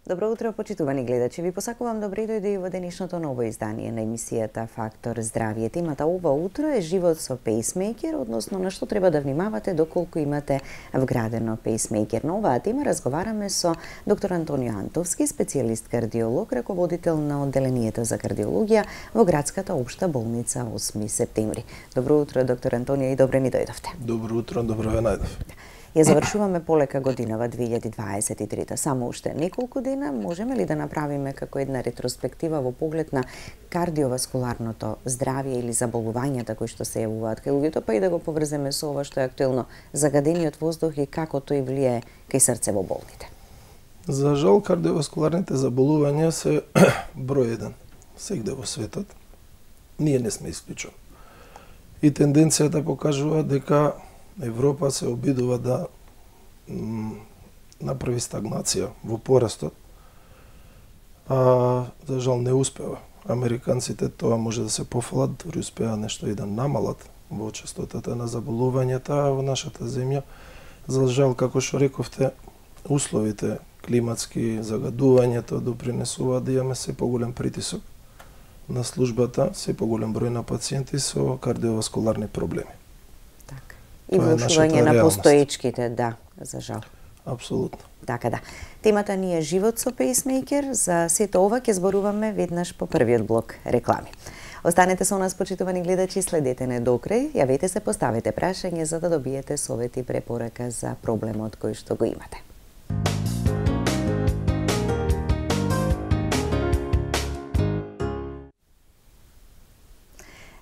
Добро утро, почитувани гледачи. Ви посакувам добре дојде во денешното ново издание на емисијата Фактор здравје. Темата ова утро е живот со пейсмејкер, односно на што треба да внимавате доколку имате вградено пейсмејкер. На оваа тема разговараме со доктор Антонио Антовски, специјалист кардиолог, раководител на одделението за кардиологија во градската општа болница 8 септември. Добро утро, доктор Антонио, и добре ни дојдовте. Добро утро, добро ве најдов. Ја завршуваме полека годинава 2023. Само уште неколку дена можеме ли да направиме како една ретроспектива во поглед на кардиоваскуларното здравје или заболувањата кои што се јавуваат кај луѓето, па и да го поврземе со ова што е актуелно, загадениот воздух и како тој влијае кај срцевоболните? За жал, кардиоваскуларните заболувања се број 1 сегде во светот. Ние не сме исклучен. И тенденцијата покажува дека Европа се обидува да направи стагнација во порастот, а за жал не успева. Американците тоа може да се пофалат, дори успеа нешто и да намалат во честотата на заболувањата, а во нашата земја, за жал, како што рековте, условите климатски, загадувањето допринесуваат да имаме се поголем притисок на службата, се поголем број на пациенти со кардиоваскуларни проблеми. И влошување на постоечките, да, за жал. Апсолутно. Така да. Темата ни е живот со пейсмејкер. За сето ова ќе зборуваме веднаш по првиот блок реклами. Останете со нас, почитувани гледачи, следете не докрај, јавете се, поставете прашање за да добиете совет и препорака за проблемот кој што го имате.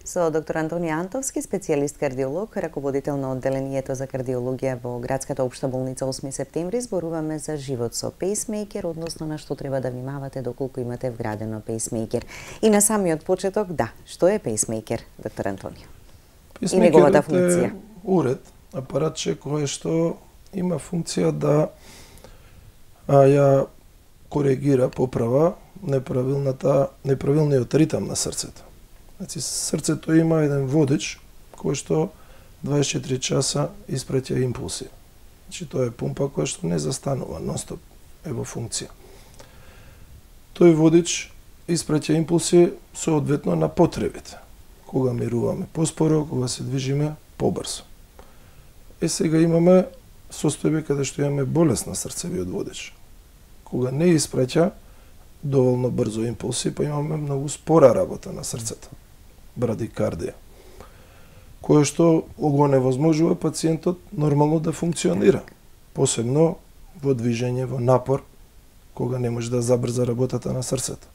Со доктор Антонио Антовски, специјалист кардиолог, раководител на одделението за кардиологија во градската општа болница 8 септември, зборуваме за живот со пейсмејкер, односно на што треба да внимавате доколку имате вградено пейсмејкер. И на самиот почеток, да, што е пейсмејкер, доктор Антонио? И неговата функција? Е уред, апаратче кое што има функција да ја коригира, поправа неправилниот ритам на срцето. Значи, срцето има еден водич кој што 24 часа испраќа импулси. Значи, тоа е пумпа која што не застанува, нонстоп е во функција. Тој водич испраќа импулси соодветно на потребите. Кога мируваме поспоро, кога се движиме побрзо. Сега имаме состојби каде што имаме болест на срцевиот водич. Кога не испраќа доволно брзо импулси, па имаме многу спора работа на срцето. Брадикардија, кое што го невозможува пациентот нормално да функционира, посебно во движење, во напор, кога не може да забрза работата на срцето.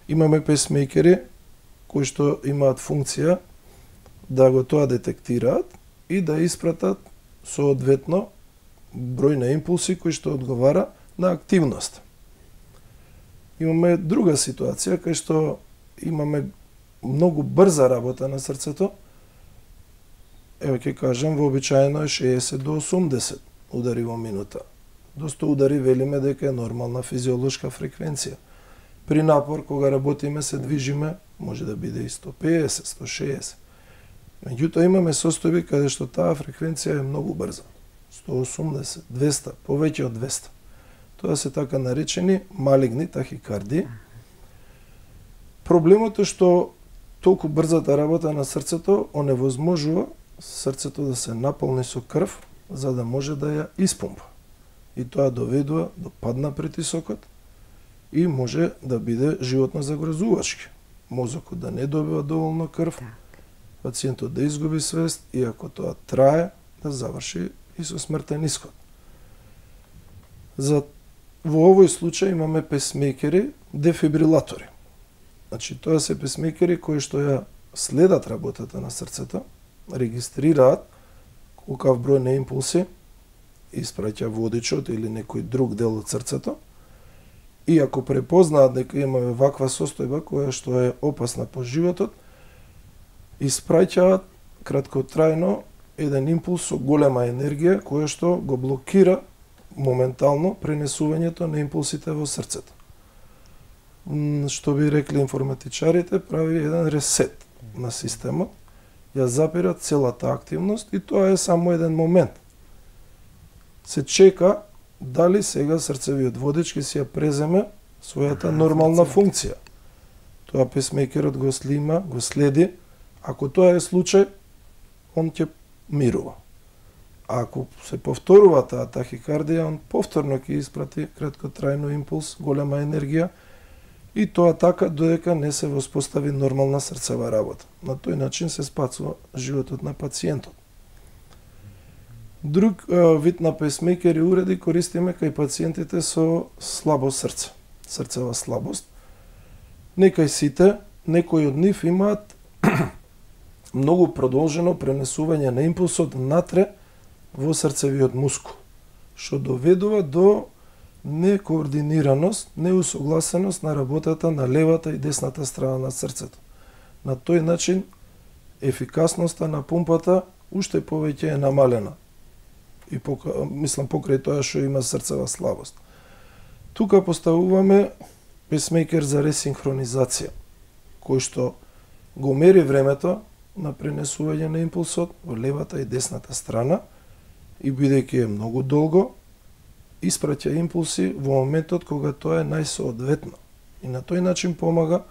Имаме пейсмејкери кои што имаат функција да го тоа детектираат и да испратат соодветно број на импулси кои што одговара на активност. Имаме друга ситуација кај што имаме многу брза работа на срцето. Еве ќе кажем, вообичаено е 60 до 80 удари во минута. До 100 удари велиме дека е нормална физиолошка фреквенција. При напор, кога работиме, се движиме, може да биде и 150, 160. Меѓутоа имаме состојби каде што таа фреквенција е многу брза. 180, 200, повеќе од 200. Тоа се така наречени малигни тахикардии. Проблемот е што толку брзата работа на срцето оневозможува срцето да се наполни со крв за да може да ја испумпа. И тоа доведува до пад на притисокот и може да биде животно загрозувачки. Мозокот да не добива доволно крв, пациентот да изгуби свест и ако тоа трае, да заврши и со смртен исход. Во овој случај имаме пейсмејкери дефибрилатори. Значи, тоа се пейсмејкери кои што ја следат работата на срцето, регистрираат колкав број на импулси испраќа водичот или некој друг дел од срцето и ако препознаат дека имаме ваква состојба која што е опасна по животот, испраќаат краткотрајно еден импулс со голема енергија која што го блокира моментално пренесувањето на импулсите во срцето. Што би рекли информатичарите, прави еден ресет на системот, ја запира целата активност и тоа е само еден момент. Се чека дали сега срцевиот водеч ќе си ја преземе својата нормална функција. Тоа песмейкерот го снима, го следи. Ако тоа е случај, он ќе мирува. А ако се повторува таа тахикардија, он повторно ќе испрати краткотрајно импулс, голема енергија, и тоа така додека не се воспостави нормална срцева работа. На тој начин се спасува животот на пациентот. Друг вид на песмейкери уреди користиме кај пациентите со слабо срце, срцева слабост. Не кај сите, некои од нив имаат многу продолжено пренесување на импулсот натре во срцевиот мускул, што доведува до некоординираност, неусогласеност на работата на левата и десната страна на срцето. На тој начин ефикасноста на пумпата уште повеќе е намалена. И мислам покрај тоа што има срцева слабост. Тука поставуваме песмейкер за ресинхронизација, кој што го мери времето на пренесување на импулсот во левата и десната страна и бидејќи е многу долго, испраќа импулси во моментот кога тоа е најсоодветно. И на тој начин помага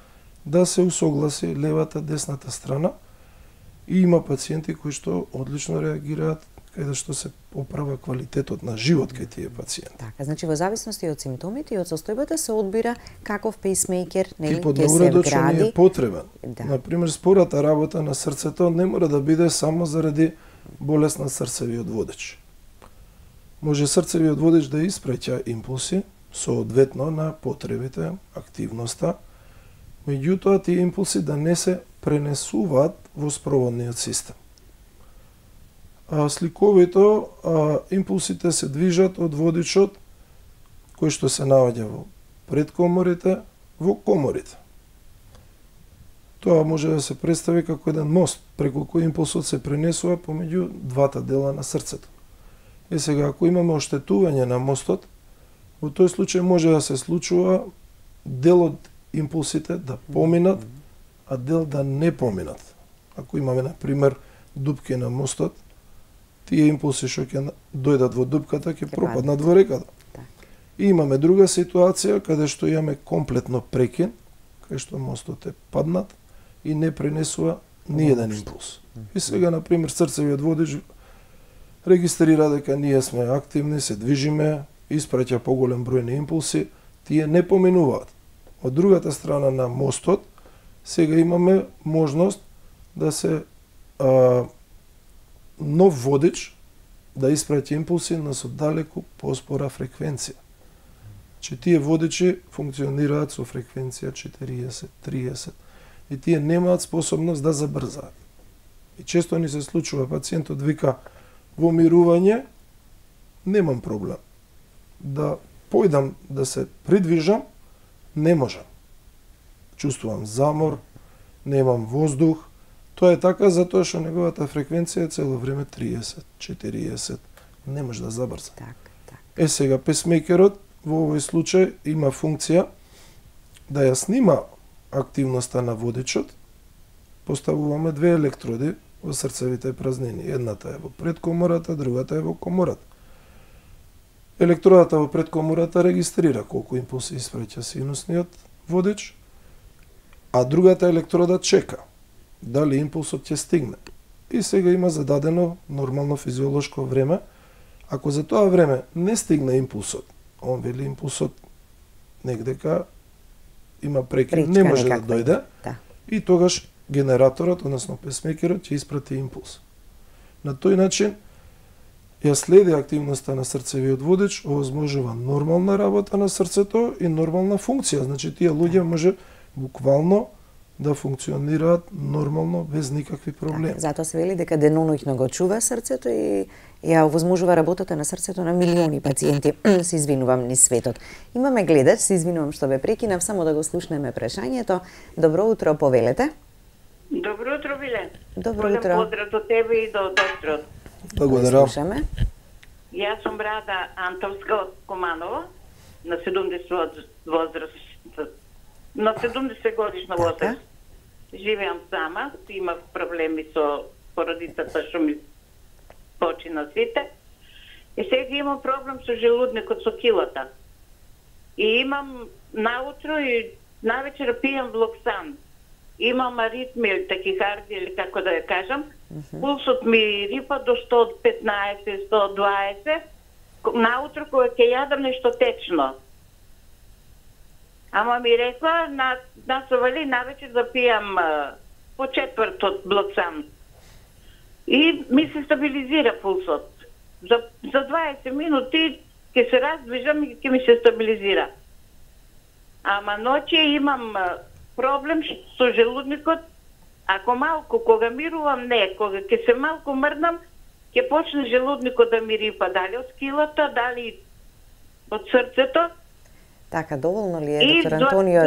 да се усогласи левата десната страна и има пациенти кои што одлично реагираат каде што се поправа квалитетот на живот кај тие пациенти. Така, значи во зависности од симптомите и од состојбата се одбира каков пейсмейкер, нели, типот ќе на се уредот што ни вгради. е потребен. Да. Например, спората работа на срцето не мора да биде само заради болест на срцевиот водеч. Може срцевиот водеч да испраќа импулси соодветно на потребите, активноста, меѓутоа тие импулси да не се пренесуваат во спроводниот систем. Сликовито, импулсите се движат од водичот кој што се наоѓа во предкоморите, во коморите. Тоа може да се представи како еден мост, преку кој импулсот се пренесува помеѓу двата дела на срцето. И сега, ако имаме оштетување на мостот, во тој случај може да се случува дел од импулсите да поминат, а дел да не поминат. Ако имаме, например, дупки на мостот, тие импулси што ќе дојдат во дупката ќе пропаднат во реката. И имаме друга ситуација каде што имаме комплетно прекин, кај што мостот е паднат и не пренесува ни еден импулс. И сега, например, срцевиот водеч регистрира дека ние сме активни, се движиме, испраќа поголем број на импулси, тие не поминуваат. Од другата страна на мостот, сега имаме можност да се нов водеч да испраќа импулси на со далеку поспора фреквенција. Че тие водечи функционираат со фреквенција 40, 30 и тие немаат способност да забрзаат. И често ни се случува пациентот вика во мирување немам проблем. Да појдам да се придвижам, не можам. Чувствувам замор, немам воздух. Тоа е така затоа што неговата фреквенција е цело време 30, 40, не може да забрза. Так. Сега песмейкерот во овој случај има функција да ја снима активноста на водечот. Поставуваме две електроди во срцевите празнини. Едната е во предкомората, другата е во комората. Електродата во предкомората регистрира колку импулси испраќа синусниот водеч, а другата електрода чека дали импулсот ќе стигне. И сега има зададено нормално физиолошко време. Ако за тоа време не стигне импулсот, он вели импулсот негдека има прекин, не може да дојде, и тогаш генераторот, односно песмейкерот, ќе испрати импулс. На тој начин ја следи активноста на срцевиот водеч, овозможува нормална работа на срцето и нормална функција. Значи, тие луѓе може буквално да функционираат нормално, без никакви проблеми. Затоа се вели дека деноноќно го чува срцето и ја овозможува работата на срцето на милиони пациенти. Се извинувам низ светот. Имаме гледач, се извинувам што ве прекинав, само да го слушнеме прашањето. Добро утро, повелете. Добро утро, Билен. Добро утро. Поздрав до тебе и до докторот. Благодарам. Слушаме. Јас сум Брада Антовска од Команово, на 70 возраст, на 70 годишна возраст. Живеам сама, имав проблеми со породицата што ми почина сите. сега имам проблем со желудникот, со килата. И имам наутро и навечер пијам Влоксан. Имам аритми, такихардија или како да ја кажам. Пулсот ми рипа до 115, 120. Наутро кога ќе јадам нешто течно. Ама ми рекла, насовали навечер да пијам по четврт од Влоксан. И ми се стабилизира пулсот. За 20 минути ќе се раздвижам и ќе ми се стабилизира. Ама ноќе имам проблем со желудникот. Ако малку, кога мирувам, не, кога ќе се малку мрдам, ќе почне желудникот да ми рипа, дали од скилата, дали од срцето. Така, доволно ли е, доктор Антонио?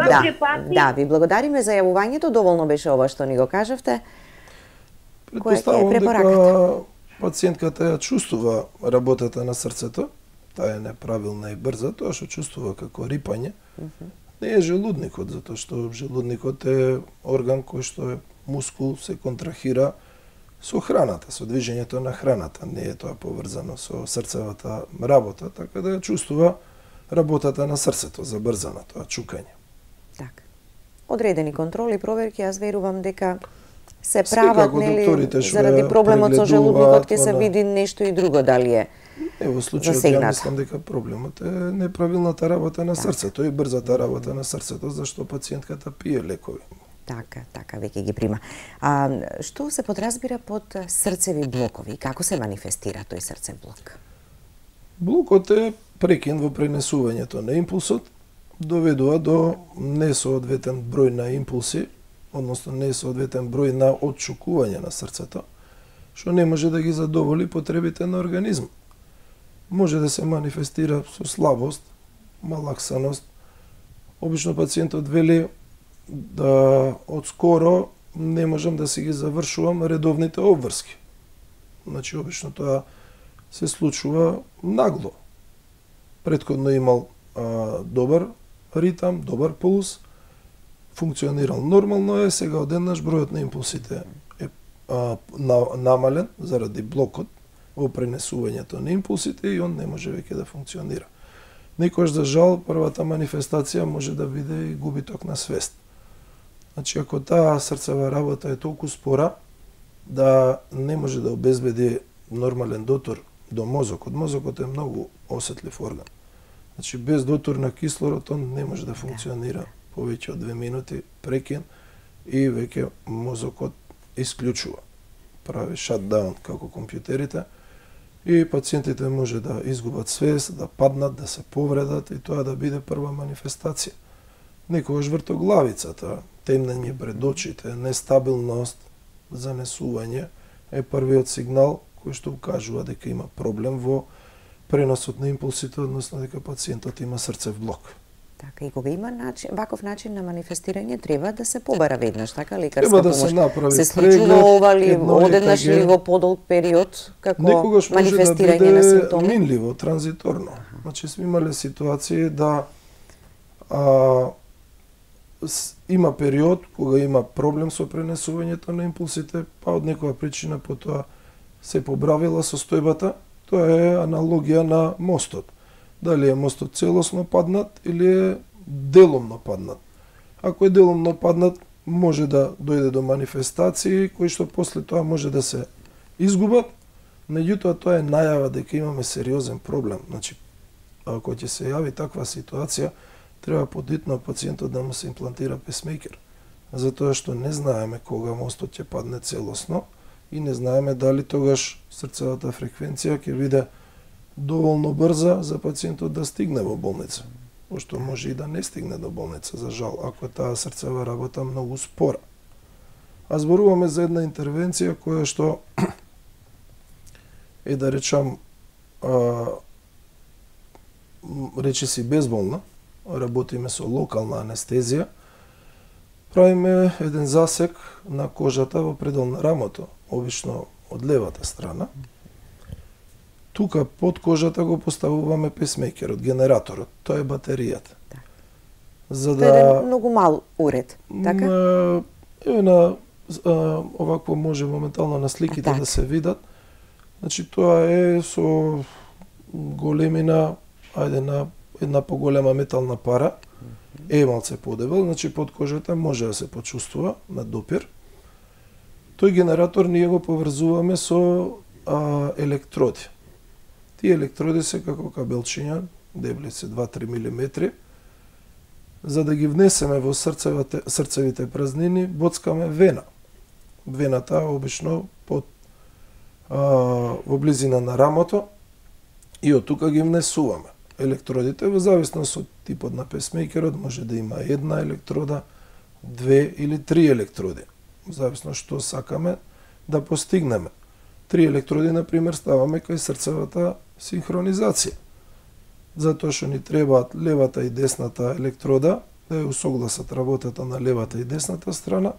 Да, ви благодариме за јавувањето, доволно беше ова што ни го кажавте. Предпоставувам дека пациентката ја чувствува работата на срцето, таа е неправилна и брза, тоа што чувствува како рипање, не е желудникот, затоа што желудникот е орган кој што е мускул, се контрахира со храната, со движењето на храната, не е тоа поврзано со срцевата работа, така да ја чувствува работата на срцето, забрзана, тоа чукање. Така. Одредени контроли, проверки, јас верувам дека се прават, нели, заради проблемот со желудникот ќе се види нешто и друго, дали е во случајот ја мислам дека проблемот е неправилната работа на срцето и брзата работа на срцето, зашто пациентката пие лекови. Така, веќе ги прима. Што се подразбира под срцеви блокови? Како се манифестира тој срцев блок? Блокот е прекин во пренесувањето на импулсот, доведува до несоодветен број на импулси, односно несоодветен број на отчукување на срцето, што не може да ги задоволи потребите на организм. Може да се манифестира со слабост, малаксаност. Обично пациентот вели да одскоро не можам да си ги завршувам редовните обврски. Значи, обично тоа се случува нагло. Претходно имал добар ритам, добар пулс, функционирал нормално е, сега одеднаш бројот на импулсите е намален заради блокот во пренесувањето на импулсите и он не може веќе да функционира. Некојаш, за жал, првата манифестација може да биде и губиток на свест. Значи, ако таа срцева работа е толку спора да не може да обезбеди нормален дотор до мозокот. Мозокот е многу осетлив орган. Значи, без дотор на кислород он не може да функционира повеќе од 2 минути прекин и веќе мозокот исклучува. Прави шатдаун како компјутерите и пациентите може да изгубат свест, да паднат, да се повредат и тоа да биде прва манифестација. Некогаш вртоглавицата, темнење пред очите, нестабилност, занесување е првиот сигнал кој што укажува дека има проблем во преносот на импулсите, односно дека пациентот има срцев блок. Така, и кога има ваков начин на манифестирање, треба да се побара веднаш, така, лекарска помош. Се случува ова ли одеднаш или во подолг период, како манифестирање на симптоми? Некогаш може да биде минливо, транзиторно. Значи, сме имале ситуации да има период кога има проблем со пренесувањето на импулсите, па од некоја причина потоа се побравила состојбата. Тоа е аналогија на мостот. Дали е мостот целосно паднат или е деломно паднат. Ако е деломно паднат, може да дојде до манифестации кои што после тоа може да се изгубат, меѓутоа тоа е најава дека имаме сериозен проблем. Значи, ако ќе се јави таква ситуација, треба подитно пациентот да му се имплантира песмейкер, затоа што не знаеме кога мостот ќе падне целосно и не знаеме дали тогаш срцевата фреквенција ќе биде доволно брза за пациентот да стигне во болница, пошто може и да не стигне до болница, за жал, ако таа срцева работа многу спора. А зборуваме за една интервенција која што е, да речам, речиси безболна, работиме со локална анестезија, правиме еден засек на кожата во предел на рамото, обично од левата страна. Тука под кожата го поставуваме песмейкерот, генераторот, тоа е батеријата. За да... Тоа е многу мал уред, така? Овакво може моментално на сликите да се видат. Значи, тоа е со големина, на една поголема метална пара, малце подебел, значи под кожата може да се почувствува на допир. Тој генератор ние го поврзуваме со електроди. Тие електроди се како кабелчиња, дебели се 2-3 мм. За да ги внесеме во срцевите празнини, боцкаме вена. Вената обично во близина на рамото и од тука ги внесуваме. Електродите, во зависност од типот на песмейкерот, може да има една електрода, 2 или 3 електроди. Во зависност што сакаме да постигнеме. 3 електроди, например, ставаме кај срцевата синхронизација. Затоа што ни требаат левата и десната електрода, да ја усогласат работата на левата и десната страна.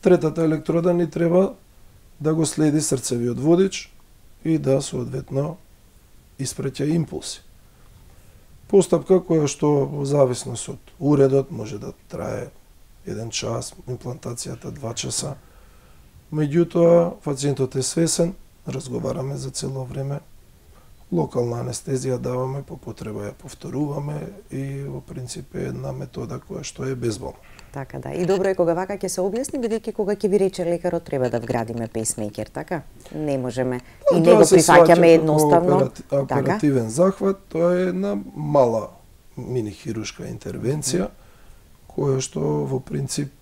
Третата електрода ни треба да го следи срцевиот водич и да соодветно испреќа импулси. Постапка која што во зависност од уредот може да трае 1 час, имплантацијата 2 часа. Меѓутоа, пациентот е свесен, разговараме за цело време, локална анестезија даваме, по потреба ја повторуваме и во принцип е една метода која што е безболна. Така да. И добро е кога вака ќе се објасни, бидејќи кога ќе ви рече лекарот треба да вградиме песмейкер, така? Не можеме и не го прифаќаме едноставно. Оперативен захват, тоа е една мала мини хируршка интервенција, која што во принцип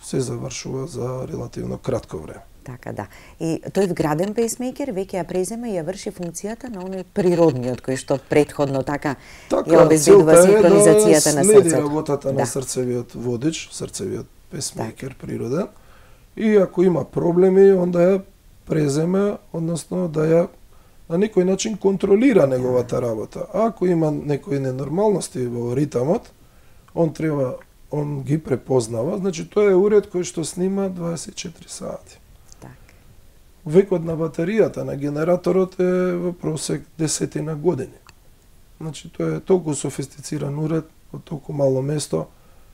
се завршува за релативно кратко време. Така да. И тој вграден пейсмейкер веќе ја преземе и ја врши функцијата на оној природниот кој што претходно ја обезбедува синхронизацијата на срцето. Следи работата на срцевиот водич, срцевиот пейсмейкер природен. И ако има проблеми, онда ја преземе, односно да ја на некој начин контролира неговата работа. Ако има некои ненормалности во ритамот, он ги препознава, значи тоа е уред кој што снима 24 сати. Векот на батеријата на генераторот е во просек 10 години. Значи тоа е толку софистициран уред, во толку мало место,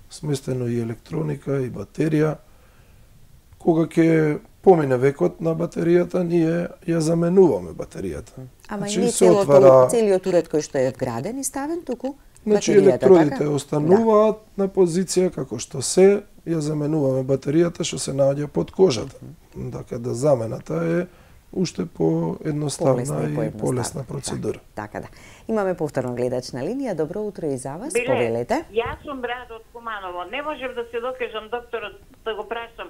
сместено и електроника и батерија. Кога ќе помине векот на батеријата, ние ја заменуваме батеријата. Ама значи, не целиот уред кој што е вграден и ставен туку значи електродите остануваат на позиција како што се, ја заменуваме батеријата што се наоѓа под кожата. Така да замената е уште по едноставна и полесна процедура. Така да. Имаме повторно гледач на линија. Добро утро и за вас. Повелете. Јас сум Радо од Куманово. Не можев да се докажам докторот да го прашам.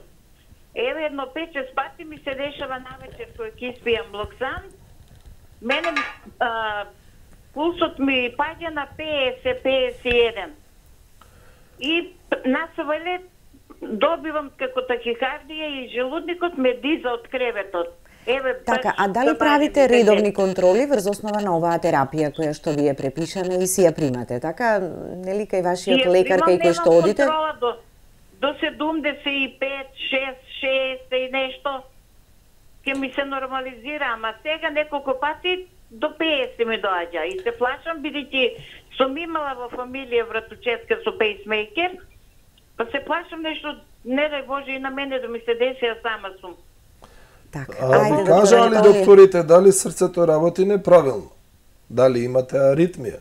Еве едно 5-6 пати ми се дешава навечер кога ќе испијам Блоксан. Мене пулсот ми паѓа на 50-51. И на совалет добивам како тахикардија и желудникот ме диза од креветот. Еве, така, а дали правите редовни контроли врз основа на оваа терапија која што ви е препишана и си ја примате? Така, нели кај вашиот лекар кај кој што одите? До 75, 6 и нешто ќе ми се нормализира, ама сега неколку пати до 50 ми доаѓа и се плашам бидејќи сум имала во фамилија вратучетка со пейсмейкер, па се плашам нешто, не дај Боже и на мене да ми се деси, а сама сум. А ви кажа ли докторите дали срцето работи неправилно? Дали имате аритмија?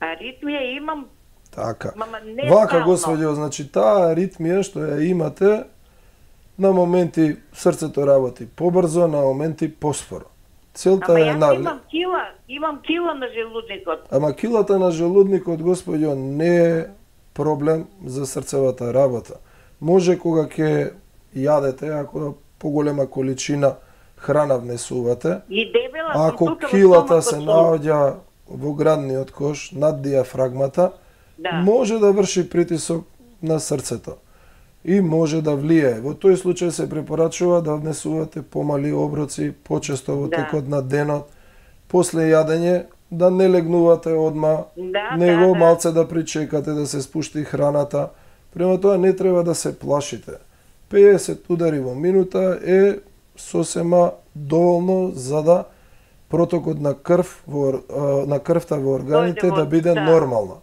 Аритмија имам. Така. Мама не вака, господјо, значи таа аритмија што ја имате, на моменти срцето работи побрзо, на моменти поспоро. Целта ама е јас имам кила на желудникот. Ама килата на желудникот, господјо, не е проблем за срцевата работа. Може кога ќе јадете, ако поголема количина храна внесувате, и дебела, ако килата се наоѓа во градниот кош над диафрагмата, може да врши притисок на срцето и може да влијае. Во тој случај се препорачува да внесувате помали оброци почесто во текот на денот, после јадење да не легнувате одма, него малце да причекате да се спушти храната. Према тоа не треба да се плашите. 50 удари во минута е сосема доволно за да протокот на крвта во органите да биде нормална.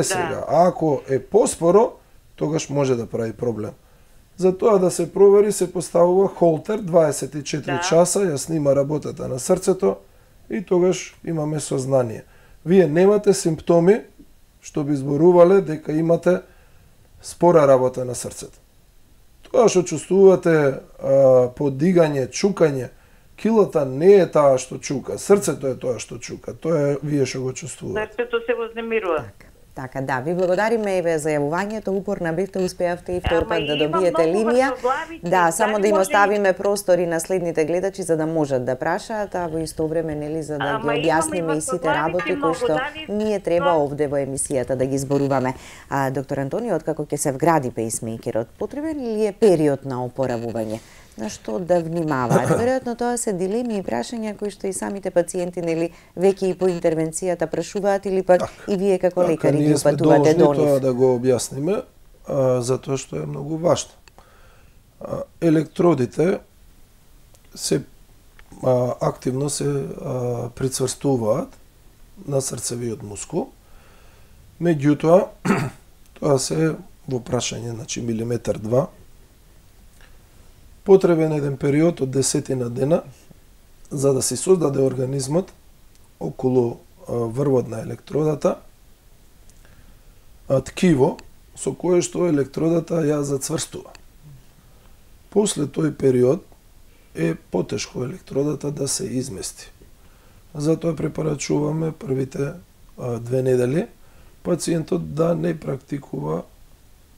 Сега, ако е поспоро, тогаш може да прави проблем. За тоа да се провери се поставува холтер 24 часа, ја снима работата на срцето и тогаш имаме сознание. Вие немате симптоми што би зборувале дека имате спора работа на срцето. Тоа што чувствувате подигање, чукање, килата не е таа што чука, срцето е тоа што чука, тоа е вие што го чувствувате. Срцето се вознемирува. Така, да, ви благодариме еве за јавувањето, упорна бевте, успеавте и втор пат да добиете линија. Да, само да им оставиме простори на следните гледачи за да можат да прашаат, а во исто време нели за да ги објасниме и сите работи кои што ние треба овде во емисијата да ги зборуваме. Доктор Антонио, откако ќе се вгради пейсмејкерот, потребен ли е период на опоравување? На што да внимаваат? Веројатно тоа се дилеми и прашања кои што и самите пациенти нели веќе и по интервенцијата прашуваат или пак и вие како лекари ги упатувате до нив. Ние сме должни тоа да го објасниме, затоа што е многу важно. Електродите се активно се прицврстуваат на срцевиот мускул. Меѓутоа, тоа се во прашање, значи милиметар 2. Потребен еден период од 10 дена за да се создаде организмот околу врвот на електродата ткиво со кое што електродата ја зацврстува. После тој период е потешко електродата да се измести. Затоа препорачуваме првите 2 недели пациентот да не практикува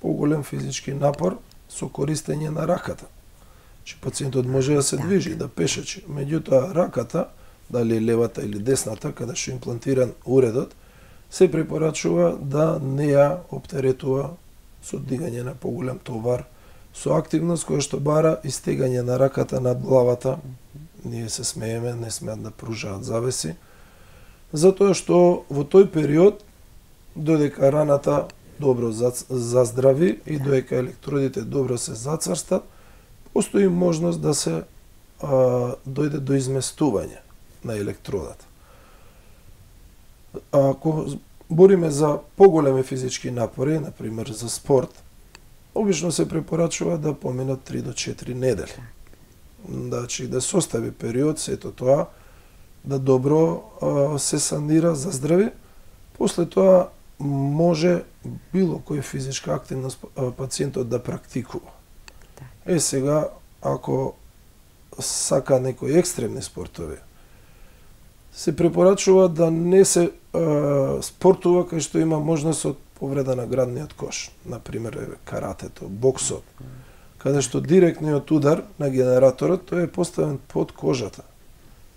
поголем физички напор со користење на раката. Че пациентот може да се движи, да пешачи. Меѓутоа, раката, дали левата или десната, каде што имплантиран уредот, се препорачува да не ја оптеретува со дигање на поголем товар, со активност која што бара истегање на раката над главата. Ние се смееме, не смеат да пружаат завеси. Затоа што во тој период, додека раната добро заздрави и додека електродите добро се зацврстат, постои можност да се дојде до изместување на електродата. Ако бориме за поголеми физички напори, например за спорт, обично се препорачува да поминат 3 до 4 недели. Значи да се остави период, сето тоа, да добро се санира, заздрави. После тоа може било која физичка активност пациентот да практикува. Сега, ако сака некои екстремни спортови, се препорачува да не се спортува кај што има можност од повреда на градниот кош. Например, каратето, боксот, каде што директниот удар на генераторот тој е поставен под кожата.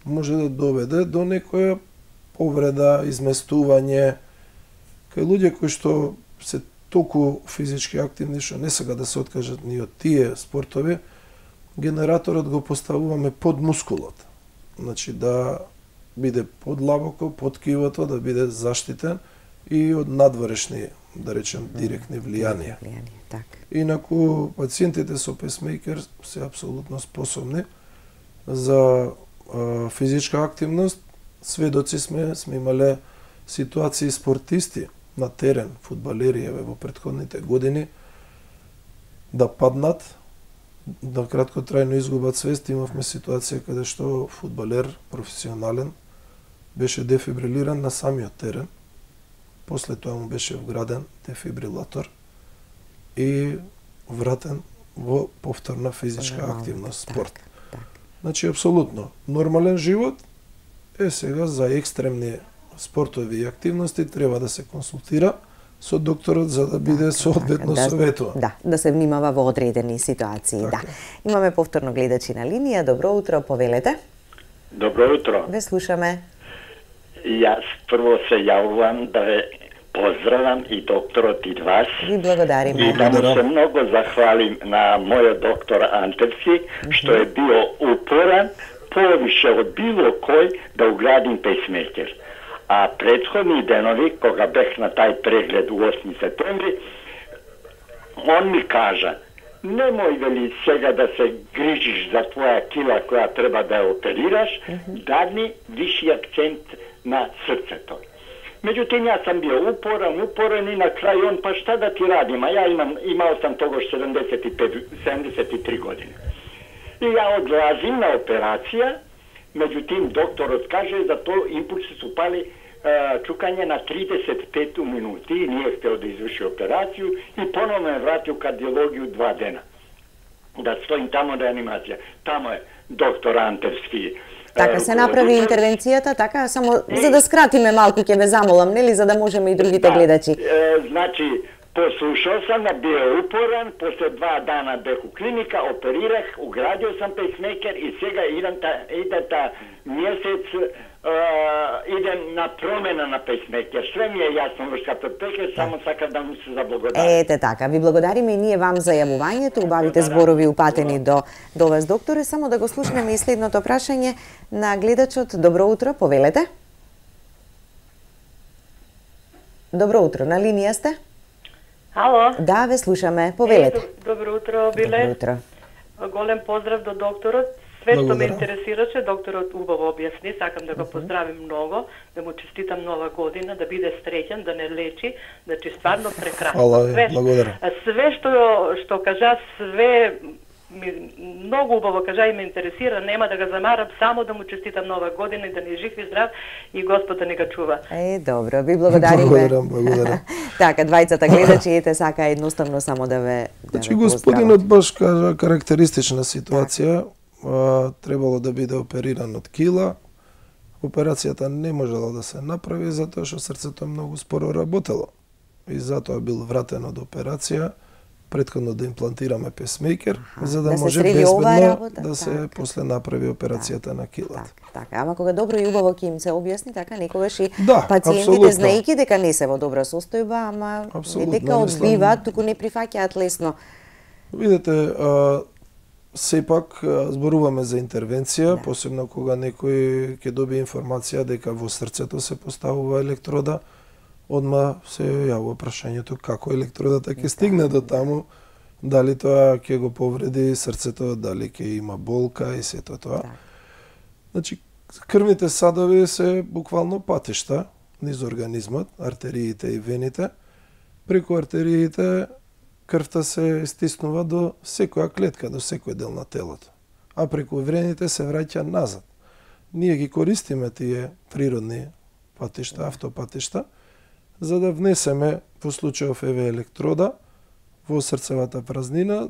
Може да доведе до некоја повреда, изместување. Кај луѓе кои што се толку физички активни што не сега да се откажат ни од тие спортови, генераторот го поставуваме под мускулот. Значи да биде подлабоко, под кивото, да биде заштитен и од надворешни, да речем, директни влијанија. Инаку пациентите со пейсмејкер се апсолутно способни за физичка активност. Сведоци сме имале ситуации спортисти на терен, фудбалери во претходните години, да паднат, да краткотрајно изгубат свест. Имавме ситуација каде што фудбалер професионален беше дефибрилиран на самиот терен. После тоа му беше вграден дефибрилатор и вратен во повторна физичка активност, спорт. Значи, апсолутно, нормален живот е сега за екстремни спортови и активности треба да се консултира со докторот за да биде соодветно советува. Да се внимава во одредени ситуации, да. Имаме повторно гледачи на линија. Добро утро, повелете. Добро утро. Ве слушаме. Јас прво се јавувам да ве поздравам и докторот и вас. Ви благодариме. И да му се многу захвалим на мојот доктор Антевски, што е био упоран повише од било кој да уградим пейсмејкер. А претходни денови, кога бех на тај преглед у 8 септември, он ми кажа, немој вели сега да се грижиш за твоја кила која треба да ја оперираш, дади виши акцент на срцето. Меѓутоа, јас сам био упорен и на крај он, па шта да ти радим, а ја имал сам тогаш 73 години. И ја одлазим на операција Меѓутим, докторот каже да тоа импулси се пали чукање на 35 минути, ние стел да изврши операцију и поновно ме вратил кардиологију 2 дена. Да стоим тамо реанимација. Тамо е доктор Антевски. Така се направи интервенцијата, така само за да скратиме малку, ќе ве замолам, нели, за да можеме и другите гледачи. Значи, послушал сам, бил упорен, после 2 дана бех у клиника, оперирах, уградил сам пейсмейкер и сега иде та месец, идем на промена на пейсмейкер. Све ми е јасно, врската пейсмейкер, само сакам да му се заблагодарим. Ете така, ви благодариме и ние вам за јавувањето, убавите зборови упатени до вас, докторе. Само да го слушнеме и следното прашање на гледачот. Добро утро, повелете. Добро утро, на линија сте? Ало? Да, ве слушаме. Повелете. Добро утро, Биле. Добро утро. Голем поздрав до докторот. Све што ме интересираше, докторот убаво објасни. Сакам да го поздравим многу, да му честитам нова година, да биде среќен, да не лечи, значи стварно прекрасно. Благодарам. Све што кажа, све многу убаво кажа и ме интересира, нема да го замарам, само да му честитам нова година и да ни жив и здрав и Господ да ни го чува. Добро, ви благодариме. Благодарам. Така, двајцата гледачи, ете сака едноставно само да ве Значи господинот баш кажа карактеристична ситуација, требало да биде опериран од кила. Операцијата не можела да се направи затоа што срцето многу споро работело. И затоа бил вратен од операција, претходно да имплантираме песмейкер, за да може безбедно да се после направи операцијата на килата. Така, ама кога добро и убаво ќе им се објасни, така некогаш и Да, пациентите знаејќи дека не се во добра состојба, ама не дека одбиваат, туку не прифаќаат лесно. Видете, сепак зборуваме за интервенција, посебно кога некој ќе добие информација дека во срцето се поставува електрода, одма се јавува прашањето како електродата ќе стигне до таму, дали тоа ќе го повреди срцето, дали ќе има болка и сето тоа. Значи, крвните садови се буквално патишта низ организмот, артериите и вените. Преку артериите крвта се стиснува до секоја клетка, до секој дел на телото. А преку вените се враќа назад. Ние ги користиме тие природни патишта, автопатишта, за да внесеме во случајов електрода во срцевата празнина.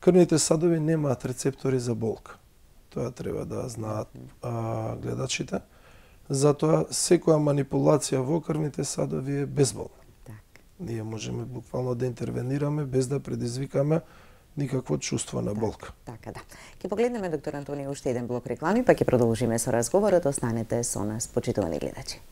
Крвните садови немаат рецептори за болка. Тоа треба да знаат гледачите. Затоа секоја манипулација во крвните садови е безболна. Ние можеме буквално да интервенираме без да предизвикаме никакво чувство на болка. Така да. Ќе погледнеме, доктор Антонио, уште еден блок реклами, па ќе продолжиме со разговорот. Останете со нас, почитувани гледачи.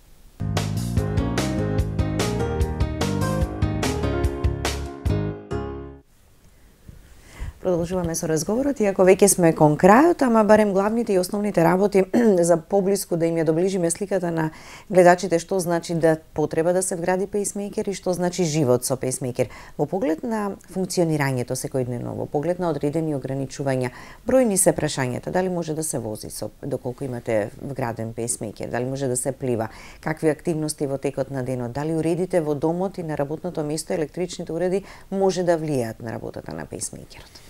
Продолжуваме со разговорот, иако веќе сме кон крајот, ама барем главните и основните работи за поблиску да им ја доближиме сликата на гледачите, што значи да потреба да се вгради пейсмейкер и што значи живот со пейсмейкер. Во поглед на функционирањето секојдневно, во поглед на одредени ограничувања, бројни се прашањата, дали може да се вози доколку имате вграден пейсмейкер, дали може да се плива, какви активности во текот на денот, дали уредите во домот и на работното место електричните уреди може да влијаат на работата на пейсмейкерот.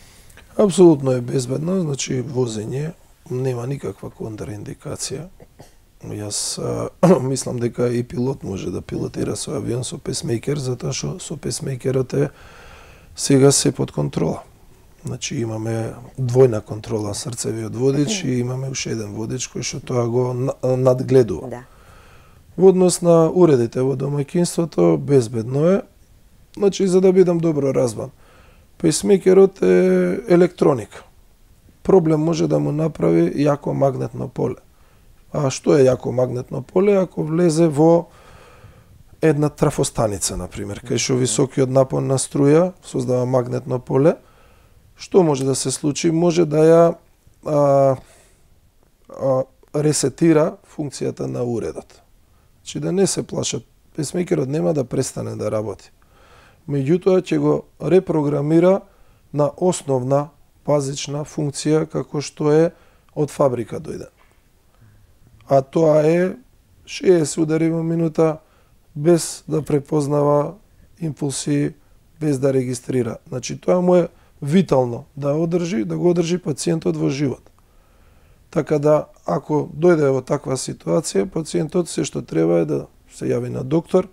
Апсолутно е безбедно, значи возење нема никаква контраиндикација. Јас мислам дека и пилот може да пилотира со авион со песмейкер, затоа што со песмейкерот е сега се под контрола. Значи имаме двојна контрола, срцевиот водич и имаме уште еден водич кој што тоа го надгледува. Да. Во однос на уредите во домаќинството безбедно е. Значи за да бидам добро разбран, пейсмейкерот е електроника. Проблем може да му направи јако магнетно поле. А што е јако магнетно поле? Ако влезе во една трафостаница, например, кај што високиот напон на струја создава магнетно поле, што може да се случи? Може да ја ресетира функцијата на уредот. Значи да не се плашат, пейсмейкерот нема да престане да работи. Меѓутоа ќе го репрограмира на основна базична функција како што е од фабрика дојден. А тоа е 60 удари во минута без да препознава импулси, без да регистрира. Значи тоа му е витално да го одржи пациентот во живот. Така да, ако дојде во таква ситуација, пациентот се што треба е да се јави на доктор,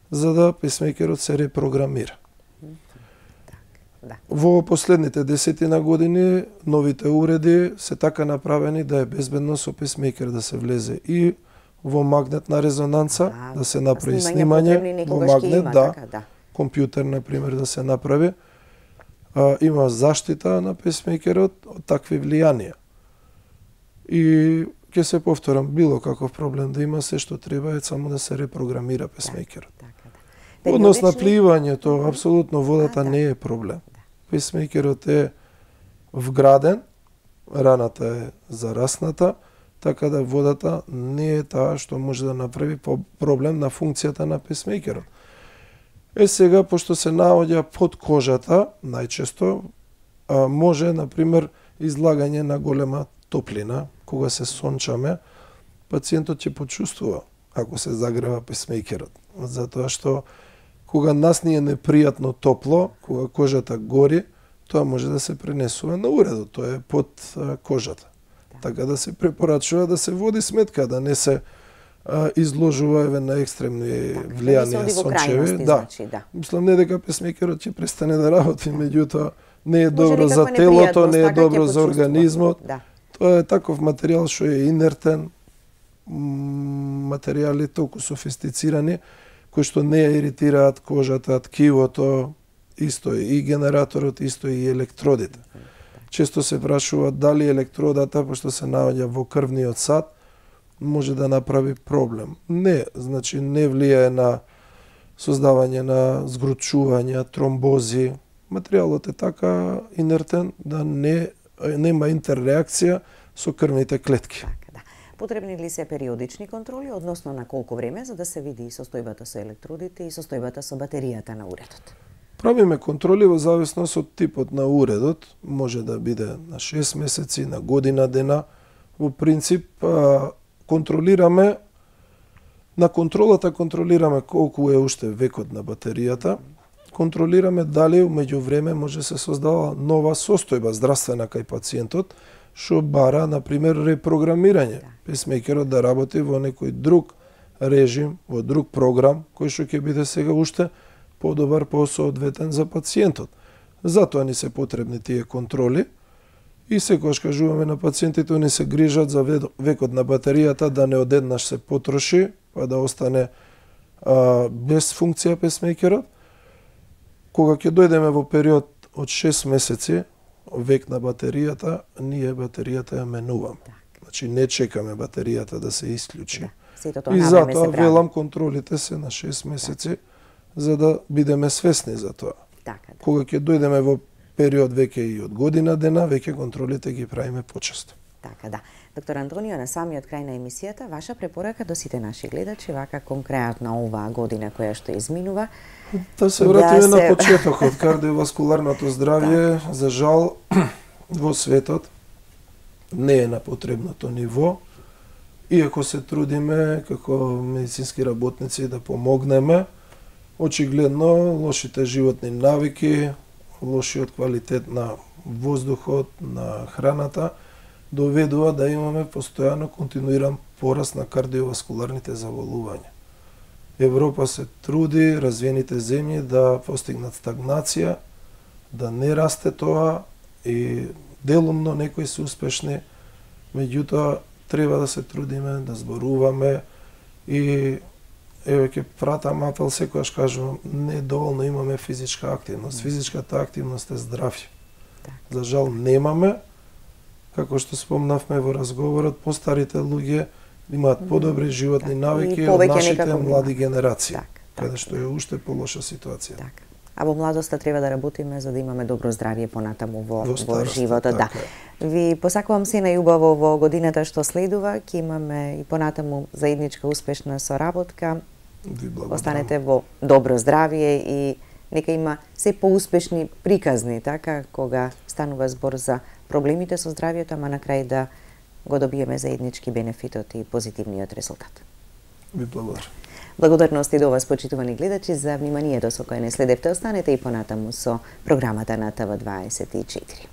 за да песмејкерот се репрограмира. Да. Во последните 10 години новите уреди се така направени да е безбедно со песмејкер да се влезе и во магнетна резонанца, да се направи снимање, во магнет, да, компјутер, например, да се направи. Има заштита на песмејкерот од такви влијанија. И ќе се повторам, било каков проблем да има, се што треба е само да се репрограмира песмејкерот. Однос на пливањето, апсолутно водата не е проблем. Песмејкерот е вграден, раната е зарасната, така да водата не е таа што може да направи проблем на функцијата на песмејкерот. Сега, пошто се наоѓа под кожата, најчесто може, например, излагање на голема топлина, кога се сончаме, пациентот ќе почувствува ако се загрева песмејкерот. Затоа што кога нас ни е непријатно топло, кога кожата гори, тоа може да се пренесува на уредот, тоа е под кожата. Така да се препорачува да се води сметка, да не се изложува на екстремни влијанија сончеви. Мислам не дека песмејкерот ќе престане да работи, меѓутоа не е добро за телото, не е добро за организмот. Тоа е таков материјал што е инертен, материјали толку софистицирани, кои што не иритираат кожата, ткивото, исто и генераторот, исто и електродите. Често се прашува дали електродата, пошто се наоѓа во крвниот сад, може да направи проблем. Не, значи не влијае на создавање на згручувања, тромбози. Материјалот е така инертен да нема интерреакција со крвните клетки. Потребни ли се периодични контроли, односно на колку време, за да се види и состојбата со електродите и состојбата со батеријата на уредот? Правиме контроли во зависност од типот на уредот. Може да биде на 6 месеци, на година дена. Во принцип, контролираме, на контролата контролираме колку е уште векот на батеријата, контролираме дали меѓу време може се создава нова состојба здравствена кај пациентот, што бара, например, репрограмирање. Песмејкерот да работи во некој друг режим, во друг програм, кој што ќе биде сега уште подобар, посоодветен за пациентот. Затоа ни се потребни тие контроли и секогаш кажуваме на пациентите, они се грижат за векот на батеријата да не одеднаш се потроши, па да остане без функција песмејкерот. Кога ќе дојдеме во период од 6 месеци, век на батеријата, ние батеријата ја менуваме. Значи не чекаме батеријата да се исклучи. И затоа велам контролите се на 6 месеци, за да бидеме свесни за тоа. Кога ќе дојдеме во период веќе и од година дена, веќе контролите ги правиме почесто. Така да. Доктор Антонио, на самиот крај на емисијата, ваша препорака до сите наши гледачи, вака конкретно оваа година која што изминува. Да се вратиме на почетокот, кардиоваскуларното здравје, за жал, во светот не е на потребното ниво. Иако се трудиме како медицински работници да помогнеме, очигледно лошите животни навики, лошиот квалитет на воздухот, на храната, доведува да имаме постојано континуиран пораст на кардиоваскуларните заболувања. Европа се труди, развиените земји да постигнат стагнација, да не расте тоа и делумно некои се успешни, меѓутоа треба да се трудиме, да зборуваме и еве ќе пратам апел, секогаш кажувам, не доволно имаме физичка активност. Физичката активност е здравје. За жал немаме. Како што спомнавме во разговорот, постарите луѓе имаат подобри животни навики од нашите млади генерации, каде што е уште полоша ситуација. А во младоста треба да работиме за да имаме добро здравје понатаму во животот. Да. Ви посакувам се најубаво во годината што следува, ќе имаме и понатаму заедничка успешна соработка. Останете во добро здравје и нека има се поуспешни приказни, така, кога станува збор за проблемите со здравјето, ама на крај да го добиеме заеднички бенефитот и позитивниот резултат. Ви благодарам. Благодарности до вас, почитувани гледачи, за вниманието со кое не следевте. Останете и понатаму со програмата на ТВ24.